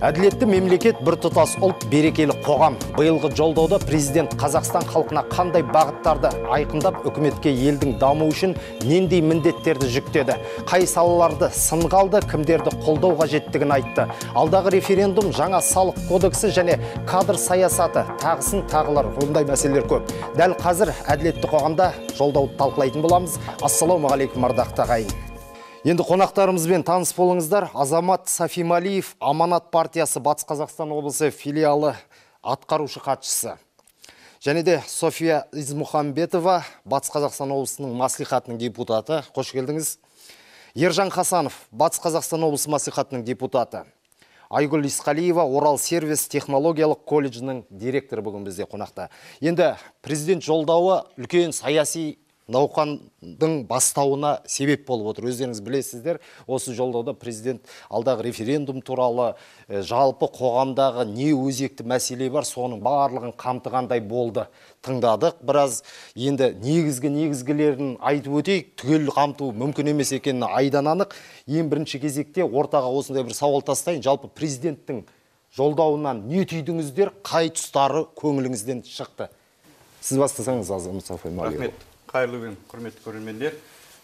Әділетті мемлекет, біртұтас ұлт, берекелі қоғам. Биылғы жолдауда президент Қазақстан халқына қандай бағыттарды айқындап, үкіметке елдің даму үшін нендей міндеттерді жүктеді. Қай салаларды сынға алды, кімдерді қолдау қажеттігін айтты. Алдағы референдум, жаңа салық кодексі және кадр саясаты, тағысын тағылар, ондай мәселелер көп. Дәл қазір әділетті қоғамда жолдауды талқылайтын боламыз. Ассалаумағалейкум, ардақты ағайын. Енді қонақтарымызбен таныс болыңыздар. Азамат Сафималиев, Аманат партиясы Батыс Қазақстан облысы филиалы атқарушы хатшысы. Және де София Измухамбетова, Батыс Қазақстан облысының маслихатының депутаты. Қош келдіңіз. Ержан Хасанов, Батыс Қазақстан облысы маслихатының депутаты. Айгүл Исқалиева, Орал сервис технологиялық колледжінің директоры бүгін бізде қонақта. Енді президент жолдауы үлкен саяси науқандың бастауына себеп болып отыр. Өздеріңіз білесіздер, осы жолдауда президент алдағы референдум туралы, жалпы қоғамдағы не өзекті мәселе бар, соның барлығын қамтығандай болды. Тыңдадық біраз. Енді негізгілерін айтып өтейік, түгел қамту мүмкін емес екенін айдан анық. Ең бірінші кезекте ортаға осындай бір сауал тастайын. Жалпы президенттің жолдауынан не түйдіңіздер, қай тұстары көңіліңізден шықты? Сіз бастасаңыз, Азамат Сафималиев. Рахмет. Қайырлы күн, құрметті көрермендер.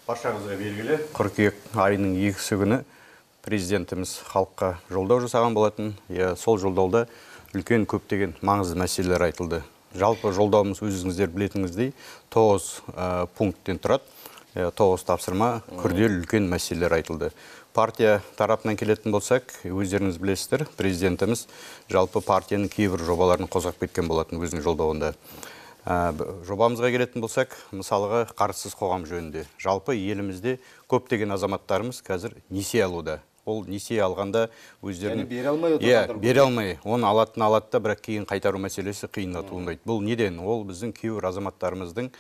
Баршаңызға белгілі, қыркүйек айының 2 күні президентіміз халыққа жолдау жасаған болатын. Сол жолдауда үлкен көптеген маңызды мәселелер айтылды. Жалпы жолдауымыз өзіңіздер білетіңіздей 9 пункттен тұрады. 9 тапсырма, күрделі үлкен мәселелер айтылды. Партия тарапынан келетін болсақ, өздеріңіз білесіздер, президентіміз жалпы партияның кейбір жобаларын қозғап кеткен болатын өзінің жолдауында. Жобамызға келетін болсақ, мысалға қарызсыз қоғам жөнінде. Жалпы елімізде көптеген азаматтарымыз қазір несие алуда. Ол несие алғанда өздерін бере алмай, оны алатын алатта, бірақ кейін қайтару мәселесі қиынға туындайды. Бұл неден? Ол біздің кейбір азаматтарымыздың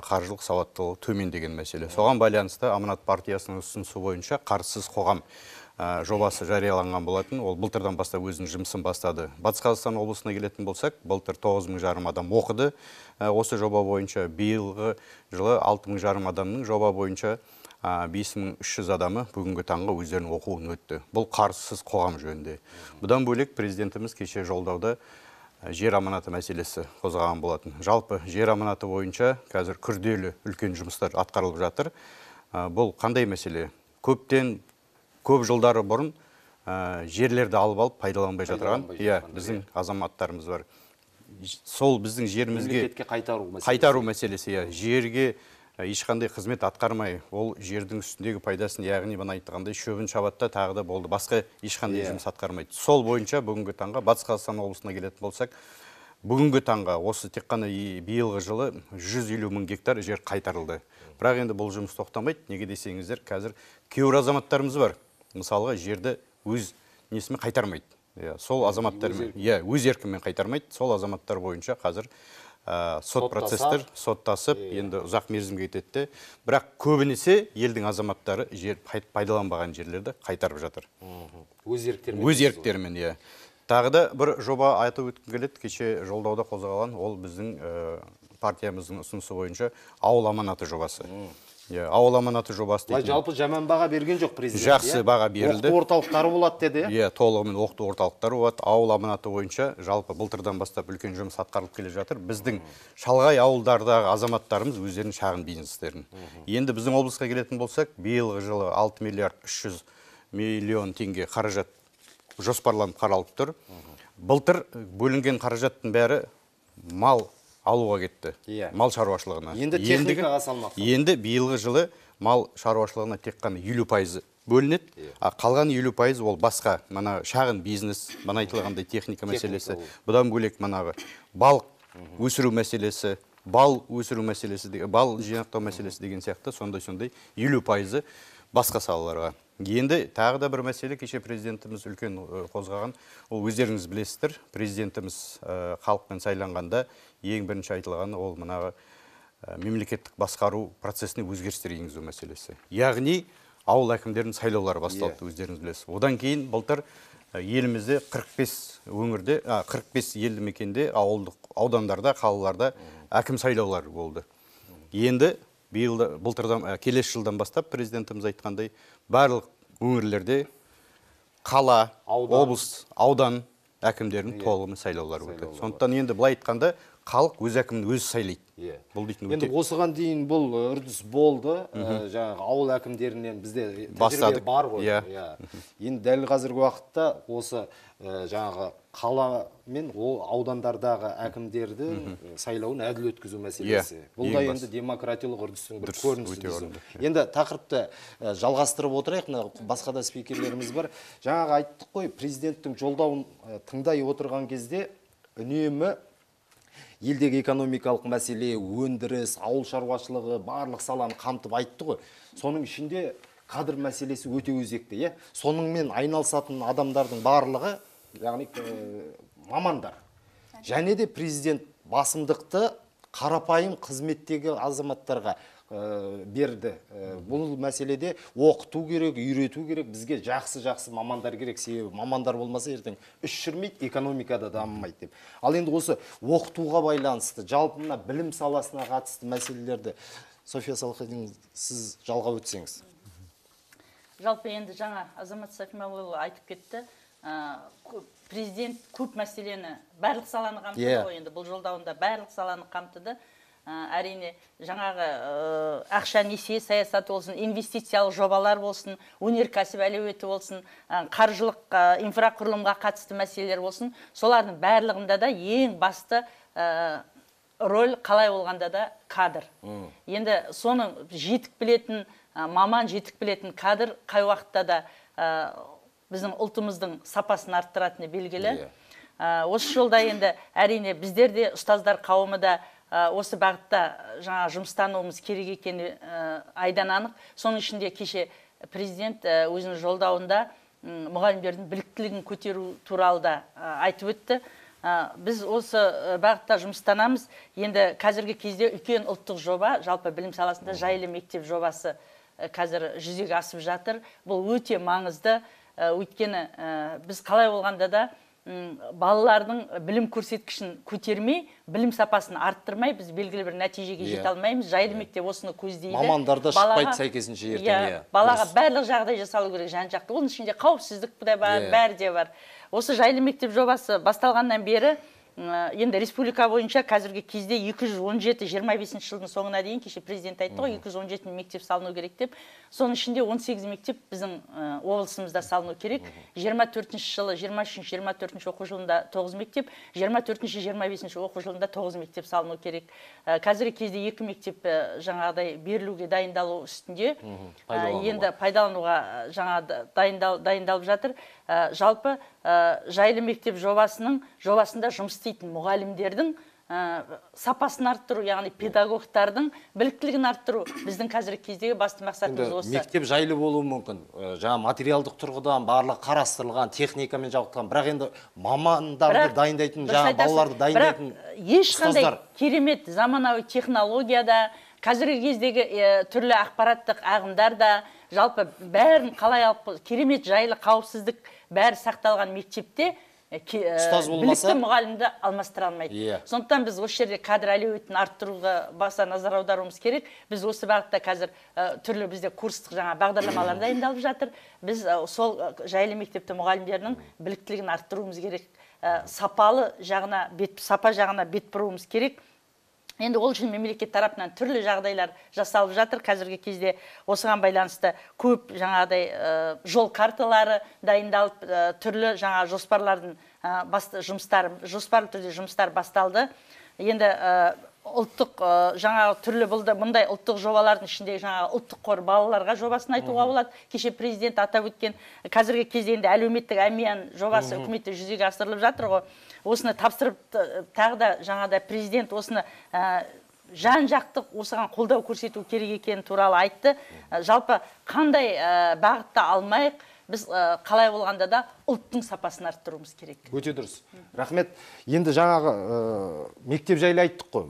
қаржылық сауаттылығы төмен деген мәселе. Соған байланысты Аманат партиясының ұсынысы бойынша қарызсыз қоғам жобасы жарияланған болатын. Ол былтырдан бастап өзінің жұмысын бастады. Батыс Қазақстан облысына келетін болсақ, былтыр 9,5 адам оқыды. Осы жоба бойынша биылғы жылы 6,5 адамның жоба бойынша 5,300 адамы бүгінгі таңға өздерінің оқуын өтті. Бұл қарызсыз қоғам жөнінде. Бұдан бөлек президентіміз кеше жолдауда жер аманаты мәселесі қозғаған болатын. Жалпы жер аманаты бойынша қазір күрделі үлкен жұмыстар атқарылып жатыр. Бұл қандай мәселе? Көп жылдары бұрын жерлерді алып пайдаланбай жатырған біздің азаматтарымыз бар. Сол біздің жерімізге қайтару мәселесі. Жерге ешқандай қызмет атқармай, ол жердің үстіндегі пайдасын, яғни бана айтқандай шөбін шабатта тағы да болды. Басқа ешқандай жұмыс атқармайды. Сол бойынша бүгінгі таңға Батыс Қазақстан облысына келетін болсақ, бүгінгі таңға осы тек қана биылғы жылы 150 мың гектар жер қайтарылды. Бірақ енді бұл жұмыс тоқтамайды. Неге десеңіздер, қазір кейбір азаматтарымыз бар. Мысалға жерді өз несімен қайтармайды. Сол азаматтармен, өз еркімен қайтармайды. Сол азаматтар бойынша қазір сот процестер соттасып, енді ұзақ мерзімге кетеді. Бірақ көбінесе елдің азаматтары жер пайдаланбаған жерлерді қайтарып жатыр. Өз еріктерімен, Тағы да бір жоба айтып өткім келеді. Кеше жолдауда қозғалған, ол біздің партиямыздың ұсынысы бойынша ауыл аманаты жобасы. Ауыл аманаты жобасы дейді. Жалпы жаман баға берген жоқ президент. Жақсы баға берілді. Оқыту орталықтары болады деді. Толығымен оқыту орталықтары болады. Ауыл аманаты бойынша жалпы былтырдан бастап үлкен жұмыс атқарылып келе жатыр. Біздің шалғай ауылдардағы азаматтарымыз өздерінің шағын бизнестерін. Енді біздің облысқа келетін болсақ, биылғы жылы 6 миллиард 300 миллион теңге қаражат жоспарланып қаралып тұр. Былтыр бөлінген қаражаттың бәрі мал алуға кетті. Мал шаруашылығына. Енді техникаға салмақ. Енді биылғы жылы мал шаруашылығына тек қана 50% бөлінеді. Қалған 50% ол басқа, шағын бизнес, айтылғандай техника мәселесі. Бұдан бөлек балық өсіру мәселесі, бал өсіру мәселесі, бал жинақтау мәселесі деген сияқты сондай 50% басқа салаларға. Енді тағы да бір мәселе, кеше президентіміз үлкен қозғаған, ол өздеріңіз білесіздер, президентіміз халықпен сайланғанда ең бірінші айтылғаны ол мемлекеттік басқару процесіне өзгерістер енгізу мәселесі. Яғни ауыл әкімдерінің сайлаулары басталды, өздеріңіз білесіз. Одан кейін былтыр елімізде 45 өңірде, 45 елді мекенде, аудандарда, қалаларда әкім сайлаулары болды. Енді былтырдан келесі жылдан бастап президентіміз айтқандай барлық өңірлерде қала, Аудан. облыс, аудан әкімдерінің толығымен сайлаулары өтеді. Сондықтан енді былай айтқанда халық өз әкімін өзі сайлайды. Бұл дейтін Енді осыған дейін бұл үрдіс болды. Жаңағы ауыл әкімдерінен бізде тәжірибе бар ғой. Енді дәл қазіргі уақытта осы жаңағы қала мен аудандардағы әкімдерді сайлауын әділ өткізу мәселесі. Бұл да енді демократиялық үрдістің бір көрінісі. Енді тақырыпты жалғастырып отырайық. Басқа да спикерлеріміз бар. Жаңағы айттық қой, президенттің жолдауын тыңдай отырған кезде үнемі елдегі экономикалық мәселе, өндіріс, ауыл шаруашылығы, барлық саланы қамтып айтты ғой. Соның ішінде кадр мәселесі өте өзекті. Соныңмен айналысатын адамдардың барлығы, яғни мамандар. Және де президент басымдықты қарапайым қызметтегі азаматтарға берді. Бұл мәселеде оқыту керек, үйрету керек, бізге жақсы мамандар керек, себебі мамандар болмаса ертең іс жүрмейді, экономикада дамымайды деп. Ал енді осы оқытуға байланысты, жалпы мына білім саласына қатысты мәселелерді София Салахидин, сіз жалғап өтсеңіз. Жалпы енді жаңа Азамат Сәкімәлұлы айтып кетті. Президент көп мәселені, барлық саланы қамтыды ғой, енді бұл жолдауында барлық саланы қамтыды. Әрине жаңағы ақша несие саясаты болсын, инвестициялық жобалар болсын, өнеркәсіп әлеуеті болсын, қаржылық инфрақұрылымға қатысты мәселелер болсын, солардың барлығында да ең басты роль қалай болғанда да кадр. Енді соны жетік білетін, маман жетік білетін кадр қай уақытта да біздің ұлтымыздың сапасын арттыратыны белгілі. Осы жолда енді әрине біздер де, ұстаздар қауымы да осы бағытта жаңа жұмыстануымыз керек екені айдан анық. Соның ішінде кеше президент өзінің жолдауында мұғалімдердің біліктілігін көтеру туралы да айтып өтті. Біз осы бағытта жұмыстанамыз. Енді қазіргі кезде үлкен ұлттық жоба, жалпы білім саласында жайлы мектеп жобасы қазір жүзеге асып жатыр. Бұл өте маңызды. Өйткені біз қалай болғанда да балалардың білім көрсеткішін көтермей, білім сапасын арттырмай, біз белгілі бір нәтижеге жете алмаймыз. Жайлы мектеп осыны көздейді. Мамандар да шықпайды сәйкесінше ертең. Балаға барлық жағдай жасалу керек жан-жақты. Оның ішінде қауіпсіздік бәрі де бар. Осы жайлы мектеп жобасы басталғаннан бері енді республика бойынша қазіргі кезде 217-25 жылдың соңына дейін, кеше президент айтты ғой, 217 мектеп салыну керек деп. Соның ішінде 18 мектеп біздің облысымызда салыну керек. 24 жылы, 23-24 оқу жылында 9 мектеп, 24-25 оқу жылында 9 мектеп салыну керек. Қазіргі кезде 2 мектеп жаңағыдай берілуге дайындалу үстінде. Енді пайдалануға жаңа дайындалып жатыр. Жалпы жайлы мектеп жобасында жұмыс істейтін мұғалімдердің сапасын арттыру, яғни педагогтардың біліктілігін арттыру біздің қазіргі кездегі басты мақсатымыз осы. Мектеп жайлы болуы мүмкін. Жаңа материалдық тұрғыдан барлық қарастырылған, техникамен жабдықталған, бірақ енді мамандарды дайындайтын, жаңа балаларды дайындайтын ешқандай керемет заманауи технологияда, қазіргі кездегі түрлі ақпараттық ағымдарда, жалпы бәрін қалай алып, керемет жайлы қауіпсіздік бәрі сақталған мектепте білікті мұғалімді алмастыра алмайды. Сондықтан біз осы жерде кадр әлеуетін арттыруға баса назар аударуымыз керек. Біз осы бағытта қазір түрлі бізде курстық жаңа бағдарламалар дайындалып жатыр. Біз сол жайлы мектепті мұғалімдерінің біліктілігін арттыруымыз керек. Сапа жағына бет бұруымыз керек. Енді ол үшін мемлекет тарапынан түрлі жағдайлар жасалып жатыр. Қазіргі кезде осыған байланысты көп жаңағыдай жол карталары дайындалып, түрлі жаңа жоспарлардың жоспарлы түрде жұмыстар басталды. Енді ұлттық жаңа түрлі мұндай ұлттық жобалардың ішінде жаңа ұлттық қор балаларға жобасын айтуға болады. Кеше президент атап өткен қазіргі кезде енді әлеуметтік әмиян жобасы үкіметте жүзеге асырылып жатыр ғой. Осыны тапсырып тағы да жаңада президент осыны жан-жақты осыған қолдау көрсету керек екені туралы айтты. Жалпы қандай бағытта алмайық, біз қалай болғанда да ұлттың сапасын арттыруымыз керек. Өте дұрыс. Рахмет. Енді жаңағы мектеп жайлы айттық қой.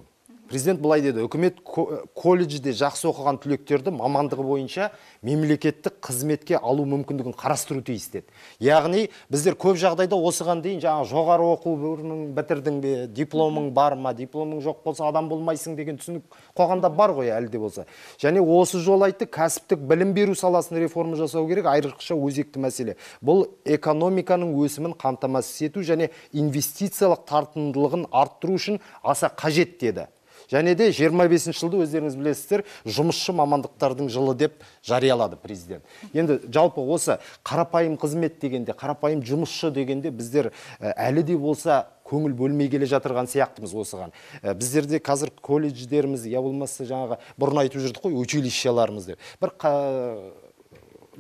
Президент былай деді, үкімет колледжде жақсы оқыған түлектерді мамандығы бойынша мемлекеттік қызметке алу мүмкіндігін қарастыру тиіс деді. Яғни біздер көп жағдайда осыған дейін жаңа жоғары оқу орнын бітірдің бе, дипломың бар ма, дипломың жоқ болса адам болмайсың деген түсінік қоғамда бар ғой әлі де болса. Және осы жол айтты, кәсіптік білім беру саласын реформа жасау керек, айрықша өзекті мәселе. Бұл экономиканың өсімін қамтамасыз ету және инвестициялық тартымдылығын арттыру үшін аса қажет деді. Және де 25 жылды өздеріңіз білесіздер, жұмысшы мамандықтардың жылы деп жариялады президент. Енді жалпы осы қарапайым қызмет дегенде, қарапайым жұмысшы дегенде біздер әлі де болса көңіл бөлмей келе жатырған сияқтымыз осыған. Біздерде қазір колледждеріміз, я болмаса жаңағы бұрын айтып жүрдік қой, училищеларымыз деп. Бір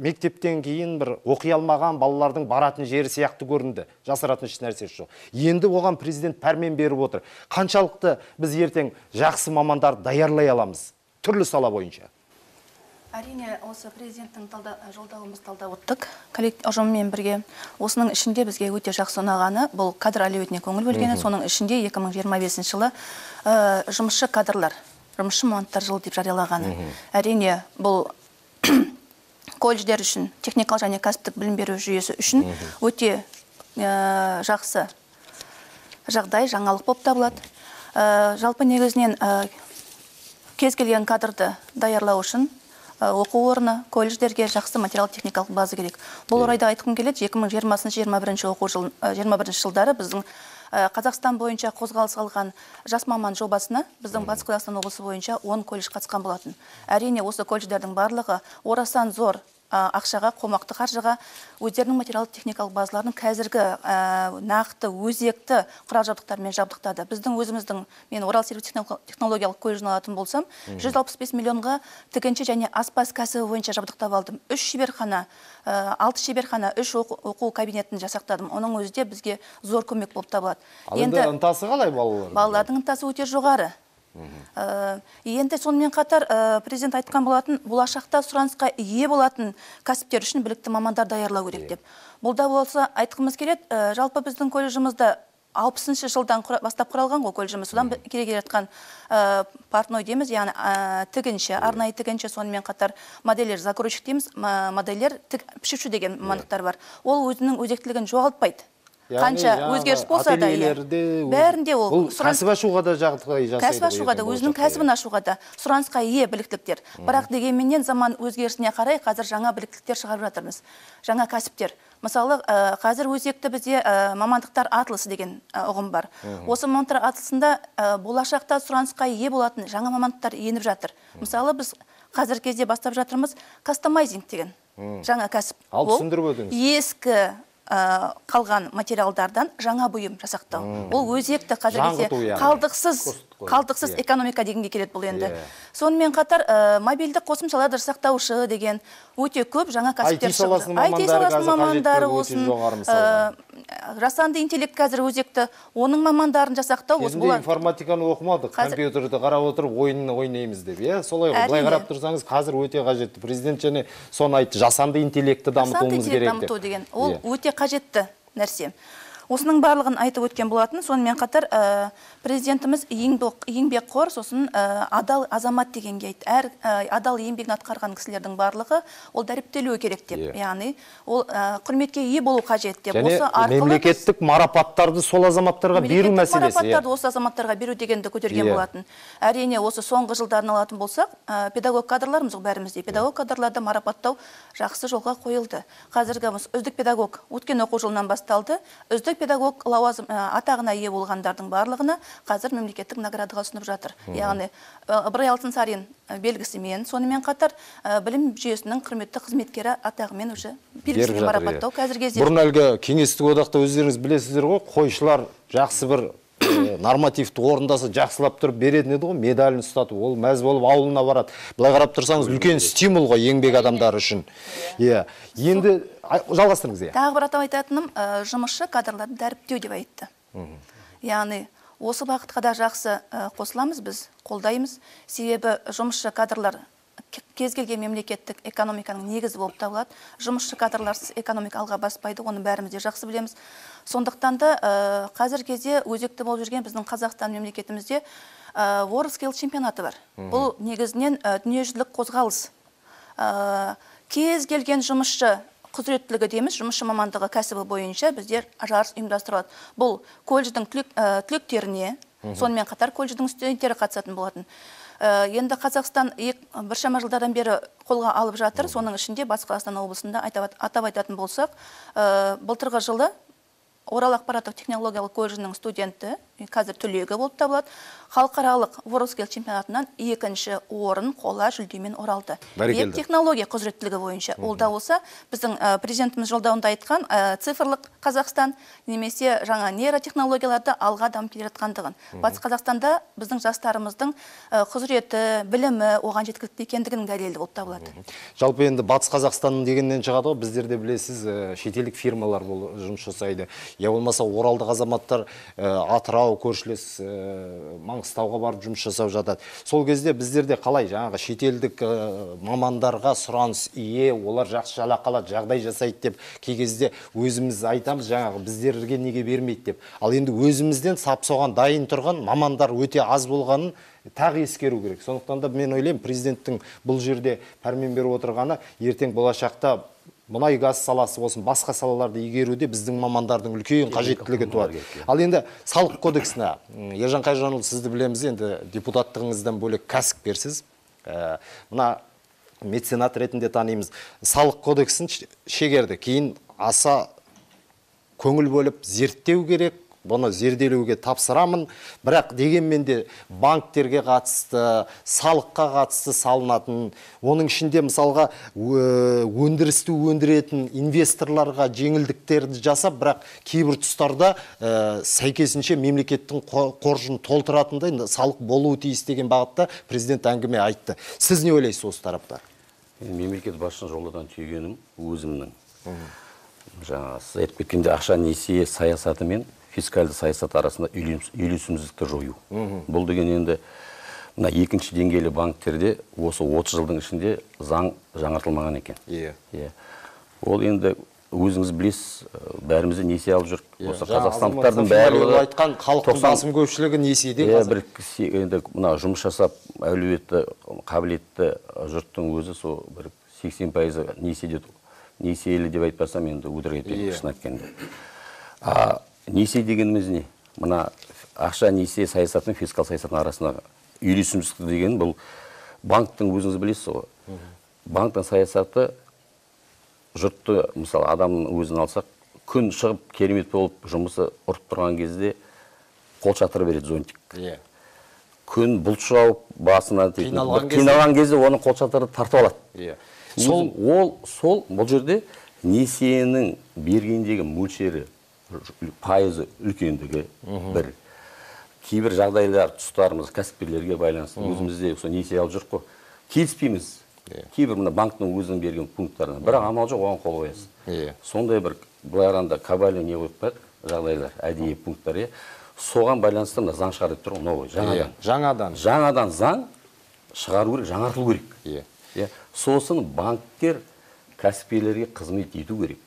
мектептен кейін бір оқи алмаған балалардың баратын жері сияқты көрінді. Жасыратын еш нәрсесі жоқ. Енді оған президент пәрмен беріп отыр. Қаншалықты біз ертең жақсы мамандар даярлай аламыз? Түрлі сала бойынша. Әрине, осы президенттің жолдауымыз талдап өттік. Ұжыммен бірге. Осының ішінде бізге өте жақсы ұнағаны, бұл кадр әлеуетіне көңіл бөлгені, соның ішінде 2025 жылы жұмысшы кадрлар, жұмысшы мамандықтар жылы деп жариялағаны. Әрине, бұл колледждер үшін, техникалық және кәсіптік білім беру жүйесі үшін өте жақсы жағдай, жаңалық болып табылады. Жалпы негізінен кез келген кадрды даярлау үшін оқу орны, колледждерге жақсы материал-техникалық база керек. Бұл орайда айтқым келеді, 2020-21 жылдары біздің Қазақстан бойынша қозғалыс алған жас маман жобасына біздің Батыс Қазақстан облысы бойынша 10 колледж қатысқан болатын. Әрине, осы колледждердің барлығы орасан зор ақшаға, қомақты қаржыға өздерінің материалдық-техникалық базаларын қазіргі нақты, өзекті құрал-жабдықтармен жабдықтады. Біздің өзіміздің, мен Орал сервис технологиялық колледжін алатын болсам, 165 миллионға тігінші және аспаз кәсібі бойынша жабдықтап алдым. 3 шеберхана, 6 шеберхана, 3 оқу кабинетін жасақтадым. Оның өзі де бізге зор көмек болып табылады. Енді ынтасы қалай балалардың? Балалардың ынтасы өте жоғары. Енді сонымен қатар президент айтқан болатын, болашақта сұранысқа ие болатын кәсіптер үшін білікті мамандар даярлау керек деп. Бұлда болса айтқымыз келеді, жалпы біздің колледжімізді 60-шы жылдан бастап құралған ғой колледжіміз. Содан келе жатқан портной дейміз, яғни тігінші, арнайы тігінші, сонымен қатар модельер, закройщик дейміз, модельер, пішуші деген мамандықтар бар. Ол өзінің өзектілігін жоғалтпайды. Қанша өзгеріс болса да, бәрінде ол кәсіп ашуға да жағдай жасайды. Кәсіп ашуға да, өзінің кәсібін ашуға да сұранысқа ие біліктіліктер. Бірақ дегенменен заман өзгерісіне қарай қазір жаңа біліктіліктер шығарып жатырмыз. Жаңа кәсіптер. Мысалы, қазір өзекті бізде мамандықтар атылысы деген ұғым бар. Осы мамандықтар атылысында болашақта сұранысқа ие болатын жаңа мамандықтар еніп жатыр. Мысалы, біз қазір кезде бастап жатырмыз кастомайзинг деген жаңа кәсіп. Ал түсіндіріп өтіңіз. Ескі қалған материалдардан жаңа бұйым жасақтау. Ол өзекті қазіргі қалдықсыз экономика дегенге келеді бұл енді. Сонымен қатар мобильдік қосымшаларды жасақтаушы деген өте көп жаңа кәсіптер шығады. IT саласының мамандары болсын, жасанды интеллект қазір өзекті, оның мамандарын жасақтау. Кезінде информатиканы оқымадық, компьютерді қарап отырып ойынын ойнаймыз деп. Солай ғой, былай қарап тұрсаңыз қазір өте қажетті. Президент және соны айтты, жасанды интеллектті дамытуымыз керек деп. Ол өте қажетті нәрсе. Осының барлығын айтып өткен болатын. Сонымен қатар президентіміз еңбекқор, сосын адал азамат дегенге айтты. Адал еңбегін атқарған кісілердің барлығы ол дәріптелуі керек деп. Яғни ол құрметке ие болу қажет деп. Және мемлекеттік марапаттарды сол азаматтарға беру мәселесі. Марапаттарды осы азаматтарға беру дегенді көтерген болатын. Әрине, осы соңғы жылдарын алатын болсақ, педагог кадрларымыз бәрімізде. Педагог кадрларды марапаттау жақсы жолға қойылды. Қазіргі үздік педагог өткен оқу жылынан басталды. Үздік педагог лауазым атағына ие болғандардың барлығына қазір мемлекеттік наградаға ұсынып жатыр. Яғни Ыбырай Алтынсарин белгісімен, сонымен қатар білім жүйесінің құрметті қызметкері атағымен уже белгісімен марапаттау қазір кезде. Бұрын әлгі кеңестік одақта өздеріңіз білесіздер ғой, қойшылар жақсы бір нормативті орындасы жақсылап тұрып беретін еді ғой, медалін ұстатып, ол мәз болып ауылына барады. Былай қарап тұрсаңыз, үлкен стимул ғой еңбек адамдары үшін. Енді жалғастырыңыз. Тағы бір атап айтатыным, жұмысшы кадрларды дәріптеу деп айтты. Яғни осы бағытқа да жақсы қосыламыз біз, қолдаймыз. Себебі жұмысшы кадрлар кез келген мемлекеттік экономиканың негізі болып табылады. Жұмысшы кадрларсыз экономика алға баспайды, оны бәріміз де жақсы білеміз. Сондықтан да қазір кезде өзекті болып жүрген біздің Қазақстан мемлекетімізде WorldSkills чемпионаты бар. Бұл негізінен дүниежүзілік қозғалыс. Кез келген жұмысшы құзыреттілігі дейміз, жұмысшы мамандығы кәсібі бойынша біздер жарыс ұйымдастырылады. Бұл колледждің түлектеріне, сонымен қатар колледждің студенттері қатысатын болатын. Енді Қазақстан біршама жылдардан бері қолға алып жатыр. Соның ішінде Батыс Қазақстан облысында атап айтатын болсақ, былтырғы жылы Орал ақпараттық технологиялық колледжінің студенті, қазір түлегі болып табылады, халықаралық WorldSkills чемпионатынан 2-ші орын қола жүлдемен оралды. Бәрекелді. Технология құзыреттілігі бойынша. Ол да болса, біздің президентіміз жолдауында айтқан цифрлық Қазақстан немесе жаңа нейротехнологияларды алға дамып келе жатқандығын. Батыс Қазақстанда біздің жастарымыздың құзыреті, білімі оған жеткілікті екендігінің дәлелі болып табылады. Жалпы енді Батыс Қазақстанның дегеннен шығады ғой, біздерде білесіз, шетелдік фирмалар жұмыс жасайды. Я болмаса оралдық азаматтар Атырау, көршілес Маңғыстауға барып жұмыс жасап жатады. Сол кезде біздерде қалай жаңағы шетелдік мамандарға сұраныс ие, олар жақсы жалақы алады, жағдай жасайды деп кей кезде өзіміз айтамыз, жаңағы біздерге неге бермейді деп. Ал енді өзімізден сап соған дайын тұрған мамандар өте аз болғанын тағы ескеру керек. Сондықтан да мен ойлаймын, президенттің бұл жерде пәрмен беріп отырғаны ертең болашақта мұнай газ саласы болсын, басқа салаларды игеруде біздің мамандардың үлкен қажеттілігі туады. Ал енді салық кодексіне, Ержан Қайжанұлы, сізді білеміз, енді депутаттығыңыздан бөлек кәсіпкерсіз. Мына меценат ретінде танимыз. Салық кодексін шегерді. Кейін аса көңіл бөліп зерттеу керек. Бұны зерделеуге тапсырамын, бірақ дегенмен де банктерге қатысты, салыққа қатысты салынатын, оның ішінде мысалға өндірісті өндіретін инвесторларға жеңілдіктерді жасап, бірақ кейбір тұстарда сәйкесінше мемлекеттің қоржын толтыратындай салық болуы тиіс деген бағытта президент әңгіме айтты. Сіз не ойлайсыз осы тарапта? Мемлекет басшының жолдан түйгенім өзімнің. Жаңа сіз айтып кеткенде ақша несие саясаты мен фискалды саясат арасында үйлесімсіздікті жою. Бұл деген енді мына екінші деңгейлі банктерде осы 30 жылдың ішінде заң жаңартылмаған екен. Ол енді өзіңіз білесіз, бәрімізде несие алып жүр. Осы қазақстандықтардың барлығы айтқан халықтың басым көпшілігі несиеде қазір. Енді мына жұмыс жасап әлеуетті, қабілетті жұрттың өзі сол бір 80% несиелі деп айтпасам енді өтірік айтпаймын, шын айтқанда. Несие дегеніміз не? Мына ақша несие саясаты мен фискал саясатының арасында үйлесімсіздік деген бұл банктың өзіңіз білесіз ғой. Банктың саясаты жұртты, мысалы адамның өзін алсақ, күн шығып керемет болып жұмысы ұрып тұрған кезде қол шатыры береді зонтик. Күн бұлт жауып басына қиналған кезде оның қол шатыры тартып алады. Бұл жерде несиенің бергендегі мөлшері, пайызы үлкендігі бір. Кейбір жағдайлар тұстарымыз кәсіпкерлерге байланысты өзімізде несие алып жүріп қой. Келіспейміз. Кейбір мына банктың өзінің берген пункттарына. Бірақ амал жоқ, оған қол қоясыз. Сондай бір былайғанда кабали не қойып қойып жағдайлар, әдейі пункттар. Соған байланысты мына заң шығарып тұр, новый, жаңадан. Жаңадан заң шығару керек, жаңартылу керек. Сосын банктер кәсіпкерлерге қызмет ету керек.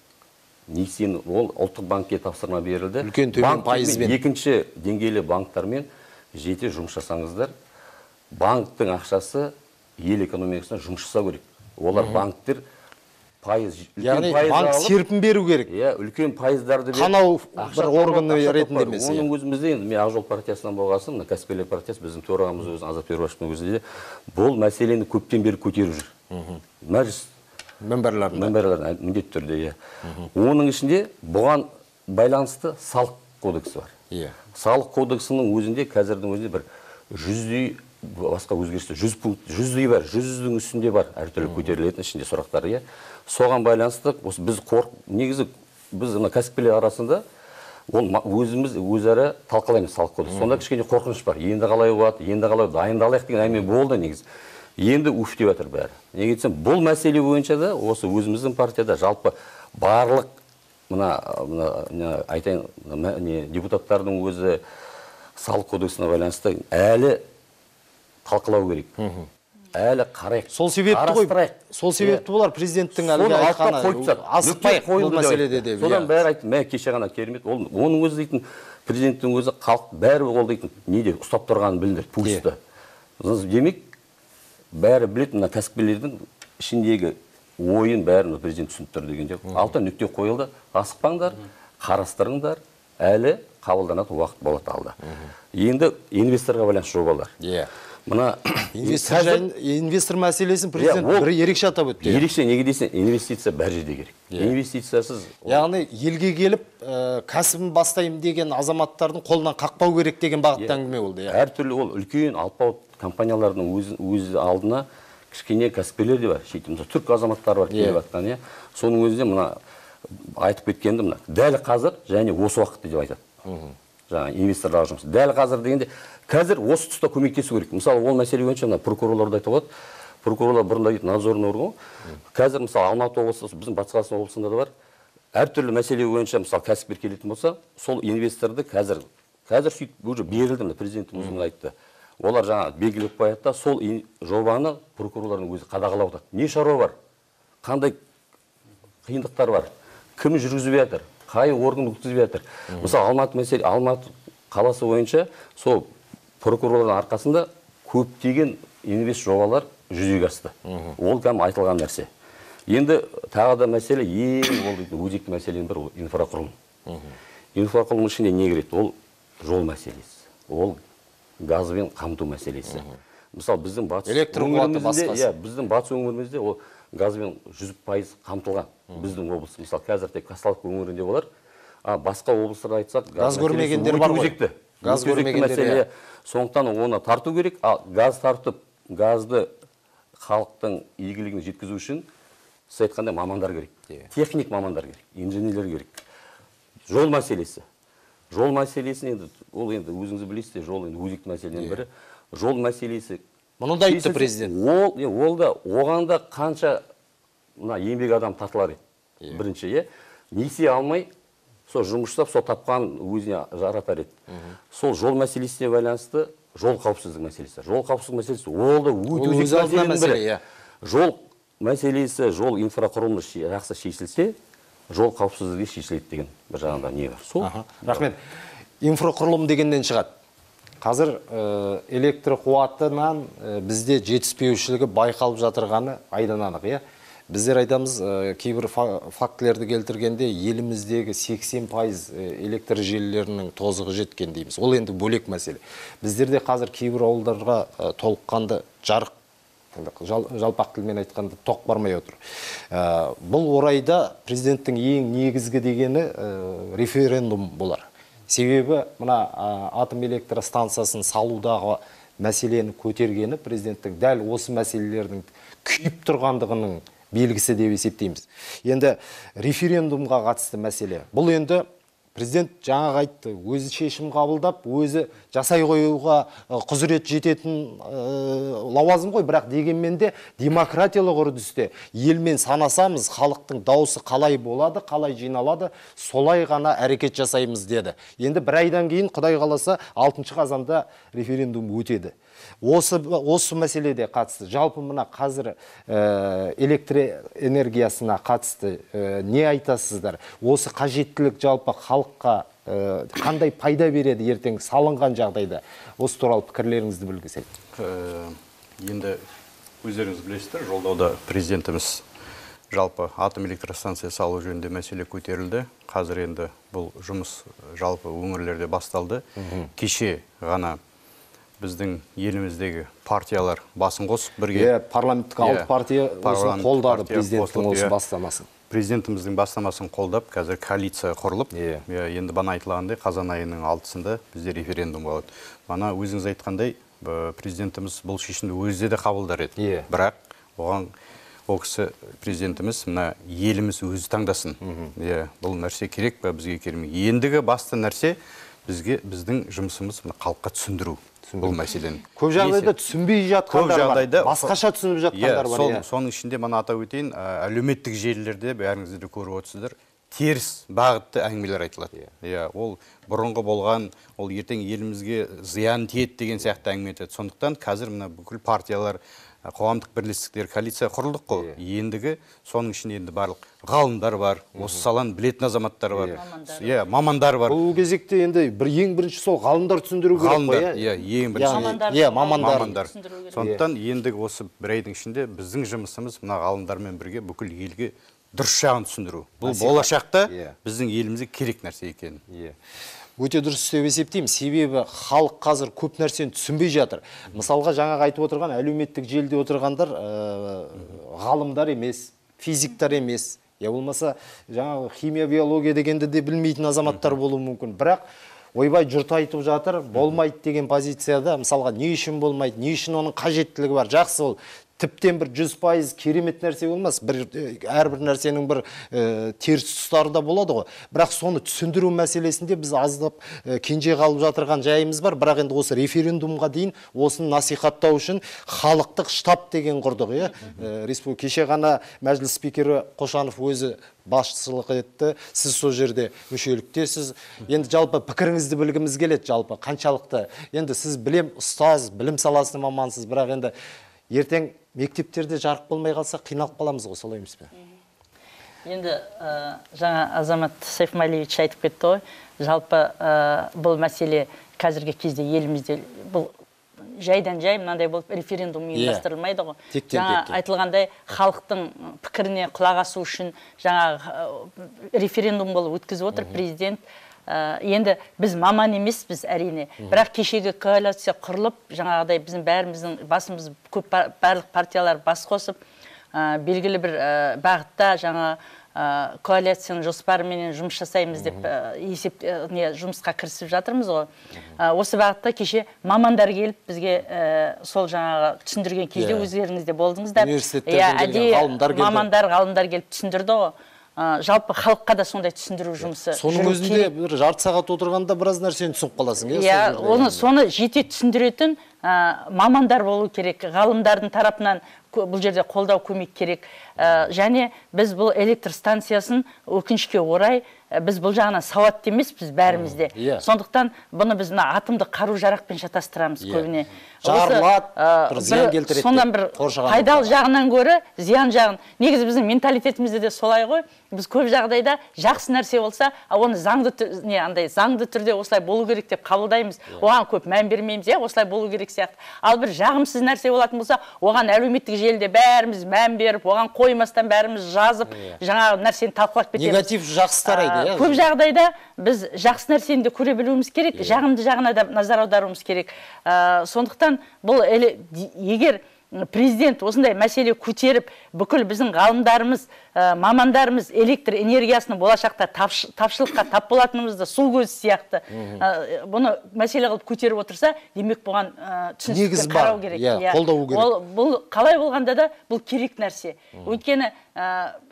Несиені ол ұлттық банкке тапсырма берілді. Үлкен төмен пайызбен. Екінші деңгейлі банктармен жете жұмыс жасаңыздар. Банктың ақшасы ел экономикасына жұмыс жасау керек. Олар банктер пайыз, яғни банк серпін беру керек. Үлкен пайыздарды беріп, қанау бір органы ретінде емес. Оның өзімізде енді мен Ақжол партиясынан болғасын, кәсіпкерлер партиясы біздің төрағамыз өзі Азат Перуашевтың өзінде бұл мәселені көптен бері көтеріп жүр. Мәжіліс Мемберлердің міндетті түрде. Оның ішінде бұған байланысты салық кодексі бар. Салық кодексінің өзінде қазірдің өзінде бір 100-дей басқа өзгерісті 100-дей бар, 100-дің үстінде бар әртүрлі көтерілетін ішінде сұрақтары. Соған байланысты негізі біз кәсіпкерлер арасында өзіміз өзара талқылаймыз салық кодекс. Сонда кішкене қорқыныш бар. Енді қалай болады, енді қалай дайындалайық деген әңгіме болды негізі. Енді үфтеп жатыр бәрі. Неге десем, бұл мәселе бойынша да осы өзіміздің партияда жалпы барлық айтайын депутаттардың өзі салық кодексіне байланысты әлі талқылау керек. әлі қарайық. Сол себепті ғой, сол себепті болар президенттің әлгі айтқаны асықпайық бұл мәселеде деп. Содан бәрі айтты, мә кеше ғана керемет. Оның өзі дейтін, президенттің өзі халық бәрі ол дейтін, неде ұстап тұрғанын білдір, пульсті. Демек, бәрі білетін, мына кәсіпкерлердің ішіндегі ойын бәрін президент түсініп тұр дегенде. Алтын нүкте қойылды, асықпаңдар, қарастырыңдар, әлі қабылданатын уақыт болады алда. Енді инвесторға байланысты жобалар. Мына инвестор мәселесін президент бір ерекше атап өтті. Ерекше неге десең, инвестиция бәр жерде керек. Инвестициясыз, яғни елге келіп кәсібін бастаймын деген азаматтардың қолынан қақпау керек деген бағытта әңгіме болды. Әртүрлі ол үлкен алпауыт компаниялардың өз алдына кішкене кәсіпкерлер де бар. Шетімізде түрк азаматтары бар келіп жатқан. Соның өзінде мына айтып кеткенді мына дәл қазір және осы уақытта деп айтады. Жаңа инвесторларға жұмыс. Дәл қазір дегенде қазір осы тұста көмектесу керек. Мысалы, ол мәселе бойынша мына прокурорларды айтып отыр. Прокурорлар бұрында дейді надзорный орган. Қазір мысалы Алматы облысы, біздің Батыс Қазақстан облысында да бар. Әртүрлі мәселе бойынша мысалы кәсіпкер келетін болса, сол инвесторды қазір сөйтіп уже берілді, президенттің өзінің айтты. Олар жаңа белгілеп қояды да, сол жобаны прокурорлардың өзі қадағалап отыр. Не шаруа бар? Қандай қиындықтар бар? Кім жүргізіп жатыр? Қай орган өткізіп жатыр? Мысалы Алматы қаласы бойынша сол прокурорлардың арқасында көптеген инвест жобалар жүзеге асты. Ол кәдімгі айтылған нәрсе. Енді тағы да мәселе ең өзекті мәселенің бірі инфрақұрылым. Инфрақұрылым ішінде не кіреді? Ол жол мәселесі. Ол газбен қамту мәселесі. Мысалы біздің батыс өңірімізде ол газбен 100% қамтылған. Біздің облыс, мысалы қазір тек Қазталов өңірінде болар. Басқа облыстарда айтсақ, газ көрмегендер бар ғой. Газ көрмегендер. Сондықтан оны тарту керек. Газ тартып, газды халықтың игілігіне жеткізу үшін сіз айтқандай мамандар керек. Техник мамандар керек, инженерлер керек. Жол мәселесі. Жол мәселесін енді өзіңіз білесіздер, жол енді өзекті мәселенің бірі. Жол мәселесі. Мұны да айтты президент. Оған да қанша еңбек адам тартылар еді. Бірінші, несие алмай, сол жұмыс жасап, сол тапқан өзіне жаратар еді. Сол жол мәселесіне байланысты жол қауіпсіздік мәселесі. Жол қауіпсіздік мәселесі ол да өте өзекті мәселенің бірі. Жол мәселесі, жол инфрақұрылымы жақсы шешілсе, жол қауіпсіздігі шешіледі деген бір жағында не бар. Рахмет. Инфрақұрылым дегеннен шығады. Қазір электр қуатынан бізде жетіспеушілігі байқалып жатырғаны айдан анық. Біздер айтамыз, кейбір фактілерді келтіргенде еліміздегі 80% электр желілерінің тозығы жеткен дейміз. Ол енді бөлек мәселе. Біздерде қазір кейбір ауылдарға толыққанды жарық, жалпақ тілмен айтқанда тоқ бармай отыр. Бұл орайда президенттің ең негізгі дегені референдум болар. Себебі мына атом электростанциясын салудағы мәселені көтергені президенттің дәл осы мәселелердің күйіп тұрғандығының белгісі деп есептейміз. Енді референдумға қатысты мәселе. Бұл енді президент жаңа айтты, өзі шешім қабылдап, өзі жасай қоюға құзырет жететін лауазым ғой, бірақ дегенмен де демократиялық үрдісте елмен санасамыз, халықтың дауысы қалай болады, қалай жиналады, солай ғана әрекет жасаймыз деді. Енді бір айдан кейін Құдай қаласа 6 қазанда референдум өтеді. Осы мәселеде қатысты. Жалпы мына қазір электр энергиясына қатысты не айтасыздар? Осы қажеттілік жалпы халыққа қандай пайда береді ертең салынған жағдайда? Осы туралы пікірлеріңізді білгісек. Енді өздеріңіз білесіздер, жолдауда президентіміз жалпы атом электростанция салу жөнінде мәселе көтерілді. Қазір енді бұл жұмыс жалпы өңірлерде басталды. Кеше ғана біздің еліміздегі партиялар басын қосып бірге парламенттік 6 партия қолдады президенттің осы бастамасын. Президентіміздің бастамасын қолдап, қазір коалиция құрылып, енді бана айтылғандай қазан айының 6-сында бізде референдум болады. Бана өзіңіз айтқандай, президентіміз бұл шешімді өзі де қабылдар еді. Бірақ оған ол кісі президентіміз мына еліміз өзі таңдасын. Бұл нәрсе керек пе, бізге керемек. Ендігі басты нәрсе біздің жұмысымыз халыққа түсіндіру. Бұл мәселені. Көп жағдайда түсінбей жатқандар бар. Басқаша түсініп жатқандар бар. Соның ішінде мана атап өтейін, әлеуметтік желілерде бәріңіздер көріп отырсыздар, теріс бағытты әңгімелер айтылады. Ол бұрынғы болған, ол ертең елімізге зиян тиеді деген сияқты әңгіме айтады. Сондықтан қазір мына бүкіл партиялар қоғамдық бірлестіктер, коалиция құрылдық қой. Ендігі соның ішінде енді барлық ғалымдар бар, осы саланы білетін азаматтар бар. Мамандар бар. Бұл кезекте енді ең бірінші сол ғалымдар түсіндіру керек қой. Ең бірінші. Мамандар. Сондықтан ендігі осы бір айдың ішінде біздің жұмысымыз мына ғалымдармен бірге бүкіл елге дұрыс жағын түсіндіру. Бұл болашақта біздің елімізге керек нәрсе екенін. Өте дұрыс деп есептеймін. Себебі халық қазір көп нәрсені түсінбей жатыр. Мысалға жаңағы айтып отырған әлеуметтік желіде отырғандар ғалымдар емес, физиктар емес. Я болмаса жаңағы химия, биология дегенді де білмейтін азаматтар болуы мүмкін. Бірақ ойбай жұрт айтып жатыр, болмайды деген позицияда, мысалға не үшін болмайды, не үшін оның қажеттілігі бар, жақсы ол. Тіптен бір 100% керемет нәрсе болмас. Әрбір нәрсенің бір теріс тұстары да болады ғой. Бірақ соны түсіндіру мәселесінде біз аздап кенже қалып жатырған жайымыз бар. Бірақ енді осы референдумға дейін осыны насихаттау үшін халықтық штаб деген құрдық. Республика кеше ғана мәжіліс спикері Қошанов өзі басшылық етті. Сіз сол жерде мүшеліктесіз. Енді жалпы пікіріңізді білгіміз келеді, жалпы қаншалықты. Енді сіз ұстаз, білім саласының мамансыз, бірақ енді ертең мектептерде жарық болмай қалса қиналып қаламыз ғой, солай емес пе? Енді жаңа Азамат Сайфмалиевич айтып кетті ғой, жалпы бұл мәселе қазіргі кезде елімізде бұл жайдан-жай мынандай болып референдум ұйымдастырылмайды ғой. Жаңа айтылғандай халықтың пікіріне құлақ асу үшін жаңа референдум болып өткізіп отыр президент. Енді біз маман емеспіз әрине, бірақ кешегі коалиция құрылып, жаңағыдай біздің бәріміздің басымыз көп барлық партиялар бас қосып, белгілі бір бағытта жаңа коалицияның жоспарыменен жұмыс жасаймыз деп жұмысқа кірісіп жатырмыз ғой. Осы бағытта кеше мамандар келіп бізге сол жаңағы түсіндірген кезде өздеріңіз де болдыңыздар. Ғалымдар келіп түсіндірді ғой. Жалпы халыққа да сондай түсіндіру жұмысы. Соның өзінде бір жарты сағат отырғанда біраз нәрсені түсініп қаласың. Соны жете түсіндіретін мамандар болу керек, ғалымдардың тарапынан бұл жерде қолдау көмек керек. Және біз бұл электр станциясын өкінішке орай біз бұл жағынан сауатты емеспіз бәрімізде. Сондықтан бұны біз атомдық қару жарақпен шатастырамыз көбіне. Жарылады, зиян келтіреді. Сондан бір пайдалы жағынан гөрі зиян жағын. Негізі біздің менталитетімізде де солай ғой. Біз көп жағдайда жақсы нәрсе болса, оны заңды түрде осылай болу керек деп қабылдаймыз. Оған көп мән бермейміз, осылай болу керек сияқты. Ал бір жағымсыз нәрсе болатын болса, оған әлеуметтік желіде бәріміз мән беріп, оған қоймастан бәріміз жазып, жаңағы нәрсені талқылап кетеміз. Негатив жақсы тарайды. Көп жағдайда біз жақсы нәрсені де көре білуіміз керек, жағымды жағына да назар аударуымыз керек. Сондықтан бұл егер президент осындай мәселе көтеріп, бүкіл біздің ғалымдарымыз, мамандарымыз электр энергиясының болашақта тапшылыққа тап болатынымызды сол көз сияқты бұны мәселе қылып көтеріп отырса, демек бұған түсіністікпен қарау керек. Қолдау керек. Бұл қалай болғанда да бұл керек нәрсе. Өйткені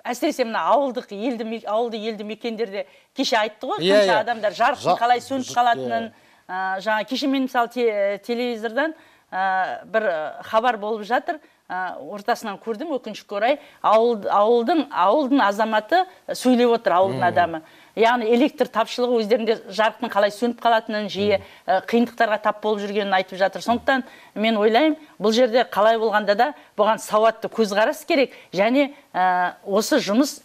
әсіресе мына ауылды елді мекендерде кеше айтты ғой, қанша адамдар жарықтың қалай сөніп қалатынын. Жаңа кеше мен мысалы телевизордан бір хабар болып жатыр, ортасынан көрдім, өкінішке орай, ауылдың азаматы сөйлеп отыр, ауылдың адамы. Яғни электр тапшылығы өздерінде жарықтың қалай сөніп қалатынын, жиі қиындықтарға тап болып жүргенін айтып жатыр. Сондықтан мен ойлаймын, бұл жерде қалай болғанда да бұған сауатты көзқарас керек, және осы жұмыс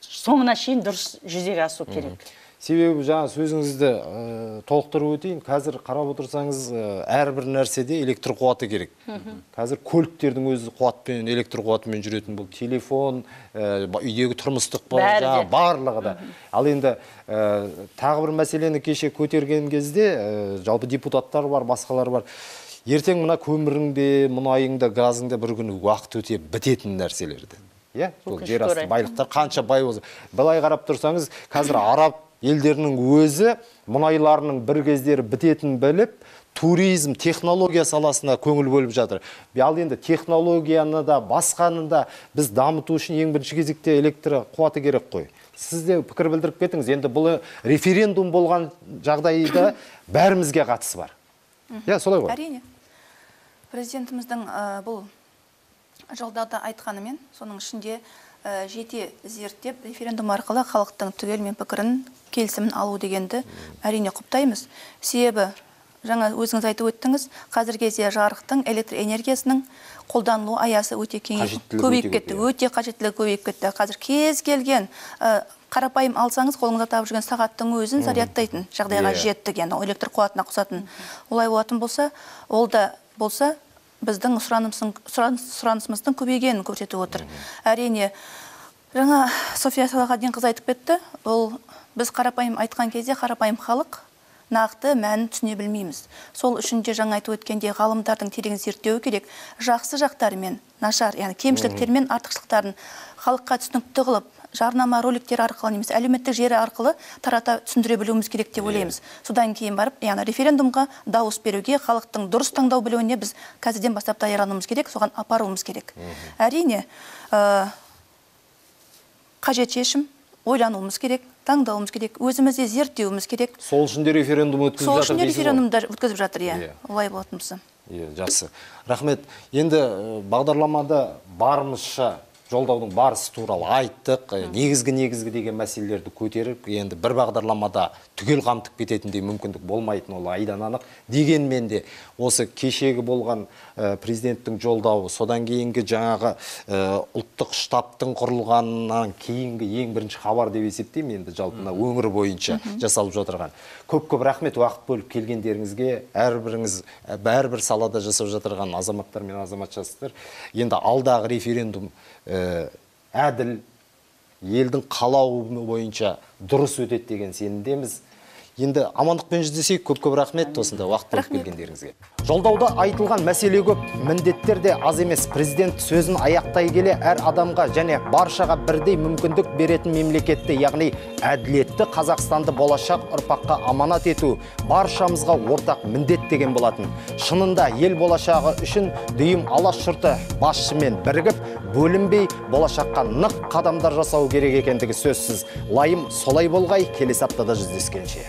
соңына шейін дұрыс жүзеге асу керек. Себебі жаңа сөзіңізді толықтырып өтейін. Қазір қарап отырсаңыз, әрбір нәрседе электр қуаты керек. Қазір көліктердің өзі қуатпен, электр қуатымен жүретін, бұл телефон, үйдегі тұрмыстық барлығы да. Ал енді тағы бір мәселені кеше көтерген кезде, жалпы депутаттар бар, басқалар бар. Ертең мына көміріңде, мұнайыңда, газыңда бір күні уақыт өте бітетін нәрселерді. Бұл жер асты байлықтар қанша бай болса. Былай қарап тұрсаңыз, қазір араб елдерінің өзі мұнайларының бір кездері бітетін біліп, туризм, технология саласына көңіл бөліп жатыр. Ал енді технологияны да, басқаны да біз дамыту үшін ең бірінші кезекте электр қуаты керек қой. Сіз де пікір білдіріп кетіңіз. Енді бұл референдум болған жағдайда бәрімізге қатысы бар. Солай ғой? Әрине. Президентіміздің бұл жолдауда айтқанымен, соның ішінде жете зерттеп, референдум арқылы халықтың түгелмен пікірін, келісімін алу дегенді әрине құптаймыз. Себебі жаңа өзіңіз айтып өттіңіз, қазір кезде жарықтың, электр энергиясының қолданылу аясы өте көбейіп кетті. Өте қажеттілігі көбейіп кетті. Қазір кез келген қарапайым алсаңыз, қолыңызда тауып жүрген сағаттың өзін зарядтайтын жағдайға жеттік, яғни электр қуатына қосатын. Олай болатын болса, ол да болса біздің сұранысымыздың көбейгенін көрсетіп отыр. Әрине, жаңа София Салахаддинқызы айтып кетті, ол біз қарапайым айтқан кезде қарапайым халық нақты мәнін түсіне білмейміз. Сол үшін де жаңа айтып өткенде ғалымдардың терең зерттеуі керек. Жақсы жақтары мен нашар, яғни кемшіліктер мен артықшылықтарын халыққа түсінікті қылып, жарнама роликтер арқылы немесе әлеуметтік желі арқылы тарата түсіндіре білуіміз керек деп ойлаймыз. Содан кейін барып, яғни референдумға дауыс беруге, халықтың дұрыс таңдау білуіне біз қазірден бастап даярлануымыз керек, соған апаруымыз керек. Әрине, қажет шешім, ойлануымыз керек, таңдауымыз керек, өзімізде зерттеуіміз керек. Сол үшін де референдум өткізіп жатыр. Сол үшін де референдумда өткізіп жатыр, олай болатын болса. Жақсы. Рахмет. Енді бағдарламада барымызша жолдаудың барысы туралы айттық, негізгі деген мәселелерді көтеріп, енді бір бағдарламада түгел қамтып кететіндей мүмкіндік болмайтын, ол айдан анық. Дегенмен де осы кешегі болған президенттің жолдауы, содан кейінгі жаңағы ұлттық штабтың құрылғаннан кейінгі ең бірінші хабар деп есептеймін, енді жалпына өңір бойынша жасалып жатырған. Көп рахмет уақыт бөліп келгендеріңізге, әрбір салада жасап жатырған азаматтар мен азаматшасыздар. Енді алдағы референдум әділ, елдің қалауы бойынша дұрыс өтеді деген сенімдеміз. Енді амандықпен жүздесейік. Көп рахмет осында уақыт бөліп келгендеріңізге. Жолдауда айтылған мәселе көп, міндеттер де аз емес. Президент сөзін аяқтай келе әр адамға және баршаға бірдей мүмкіндік беретін мемлекетті, яғни әділетті Қазақстанды болашақ ұрпаққа аманат ету баршамызға ортақ міндет деген болатын. Шынында ел болашағы үшін дүйім алаш жұрты басшымен бірігіп, бөлінбей болашаққа нық қадамдар жасау керек екендігі сөзсіз. Лайым солай болғай, келесі аптада жүздескенше.